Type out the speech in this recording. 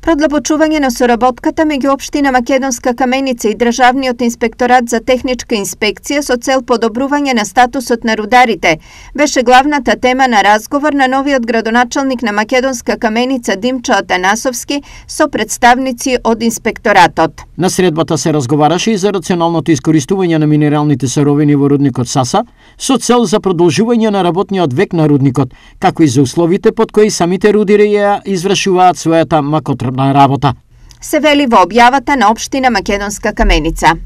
Продлабочување на соработката меѓу општина Македонска Каменица и Државниот инспекторат за техничка инспекција со цел подобрување на статусот на рударите беше главната тема на разговор на новиот градоначалник на Македонска Каменица Димчо Атанасовски со представници од инспекторатот. На средбата се разговараше и за рационалното искористување на минералните суровини во рудникот Саса со цел за продолжување на работниот век на рудникот, како и за условите под кои самите рудири ја извршуваат својата макотрпна работа. Се вели во објавата на општина Македонска Каменица.